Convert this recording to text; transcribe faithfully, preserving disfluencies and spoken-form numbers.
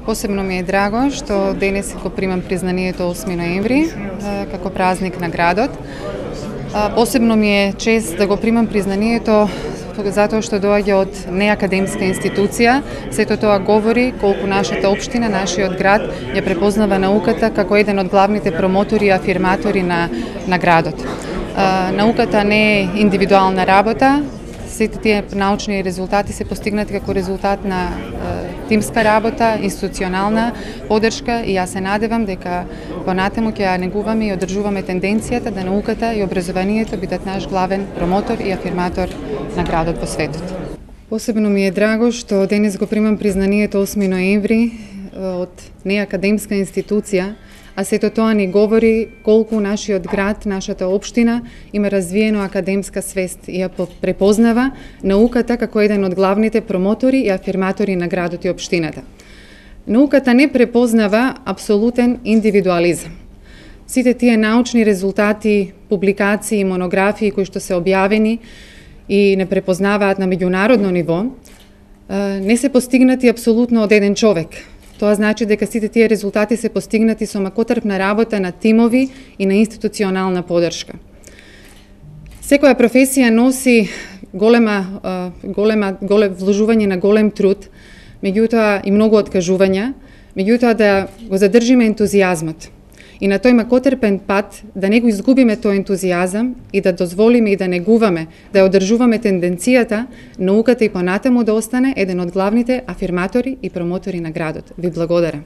Посебно ми е драго што денес го примам признанието осми ноември како празник на градот. Посебно ми е чест да го примам признанието затоа што доаѓа од неакадемска институција. Сето тоа говори колку нашата општина, нашиот град ја препознава науката како еден од главните промотори и афирматори на, на градот. Науката не е индивидуална работа. Сите тие научни резултати се постигнати како резултат на е, тимска работа, институционална поддршка и јас се надевам дека понатаму ќе ја негуваме и одржуваме тенденцијата да науката и образованието бидат наш главен промотор и афирматор на градот во светот. Посебно ми е драго што денес го примам признанието осми ноември од неакадемска институција, а сето тоа ни говори колку нашиот град, нашата општина има развиено академска свест и ја препознава науката како еден од главните промотори и афирматори на градот и општината. Науката не препознава апсолутен индивидуализам. Сите тие научни резултати, публикации и монографии кои што се објавени и не препознаваат на меѓународно ниво, не се постигнати апсолутно од еден човек. Тоа значи дека сите тие резултати се постигнати со макотрпна работа на тимови и на институционална поддршка. Секоја професија носи голема, голема, голем вложување на голем труд, меѓутоа и многу откажувања, меѓутоа да го задржиме ентузијазмот и на тој макотрпен пат да не го изгубиме тој ентузијазам и да дозволиме и да негуваме, да ја одржуваме тенденцијата науката и понатаму да остане еден од главните афирматори и промотори на градот. Ви благодарам.